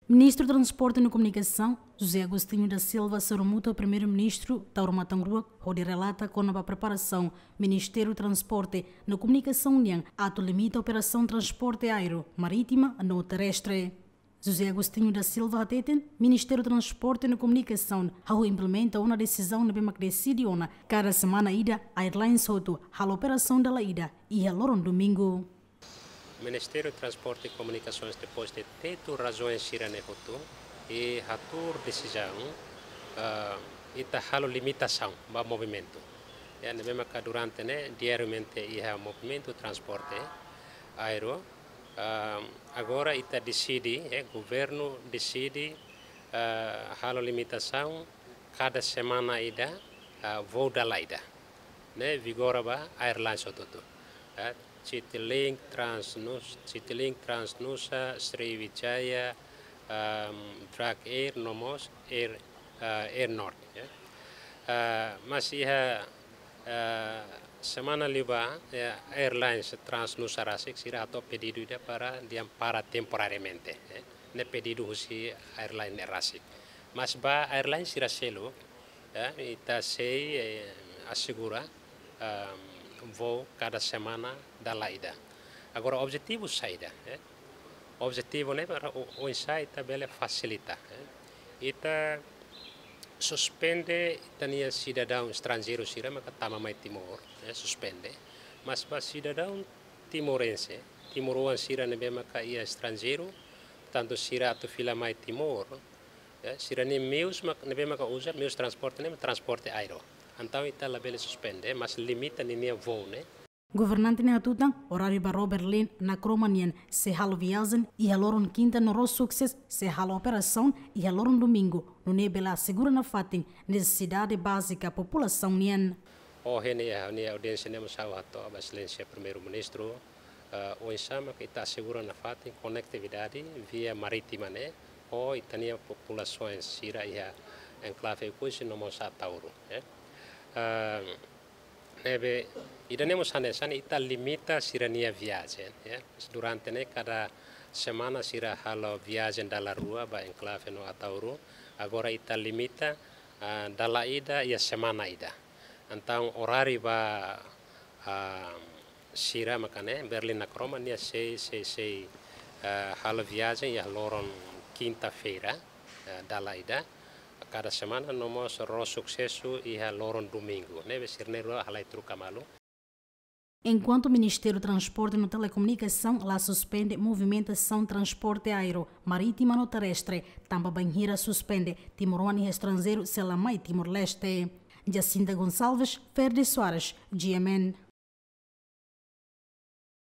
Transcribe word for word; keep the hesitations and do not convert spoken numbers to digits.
Ministru Transporte no Komunikasaun, José Agostinho da Silva, sorumutu ho Primeiru-Ministru Taur Matan Ruak, hodi relata kona-ba preparasaun Ministériu Transporte no Komunikasaun nian atu limita operasaun transporte aéreu, marítima no terrestre. José Agostinho da Silva hateten, Ministériu Transporte no Komunikasaun hahú implementa ona desizaun ne'ebé mak deside ona kada semana ida airlines hotu halo operasaun dala ida iha loron domingu. Ministériu Transporte e Komunikasoens, depois de tetu razaun sira-ne'e hotu, i hatuur desizaun, ah, ita halo limitasaun ba movimentu. Ya, ne'ebé maka durante ne'e diariamente iha movimentu transporte aéreu. Ah, agora ita deside, eh, governu deside, ah, halo limitasaun kada semana ida, ah, voo dala ida. Ne'e vigora ba airlines hotu-hotu. Eh, Citilink, Transnus-, Citilink, Transnusa, Sriwijaya, ehm, Druk Air, no mós Air, eh, Air North, ya. Eh, mas iha, eh, semana liubá, ya, airlines Transnusa rasik sira hato'o pedidu ida para dehan para temporariamente, ya. Ne'e pedidu husi airline ne'e rasik. Mas ba airline sira seluk, ya, ita sei, eh, asegura, ah, voo kada semana dala ida. Agora, objetivu saida, eh? Objetivu ne'e para o-, oinsá ita bele fasilita, eh? Ita suspende ita-nia sidadaun estranjeiru sira maka tama mai Timor, eh, suspende. Mas ba sidadaun timorense, timoroan sira ne'ebé maka iha estranjeiru, tantu sira atu fila mai Timor, ya, sira-nia meius mak-, ne'ebé maka uza meius transporte ne'e transporte aéreu. Entaun ita labele suspende, mas limita ninia voo ne'e. Governante ne'e hatutan, oráriu ba ró Berlin Nakroma nian sei halo viajen iha loron kinta no ró Success sei halo operasaun iha loron domingu, nune'e bele asegura nafatin nesesidade bázika populasaun nian. Ohin iha ha'u-nia audiénsia ne'e mós ha'u hato'o ba Exelénsia Primeiru-Ministru, eh, oinsá maka ita asegura nafatin konektividade via marítima ne'e ho ita-nia populasaun sira iha enklave Oekusi no mós Ataúru, ya. Eh, ne'ebé ida-ne'e mós hanesan ita limita sira-nia viajen, ya. Durante ne'e kada semana sira halo viajen dala rua ba enklave no Ataúru. Agora ita limita, ah, dala ida iha semana ida. Entaun oráriu ba, ah, sira maka ne'e Berlin Nakroma nia sei, sei, sei, ah, halo viajen iha loron kinta-feira, ah, dala ida kada semana, no mós ró Success iha loron domingu. Ne'ebé sira na'in-rua halai troka malu. Enkuantu Ministériu Transporte no Telekomunikasaun la suspende movimentasaun transporte aéreu, marítima no terrestre, tanba bainhira suspende, timoroan iha estranjeiru sei la mai Timor-Leste. Jacinta Gonçalves, Ferdi Soares, G M N.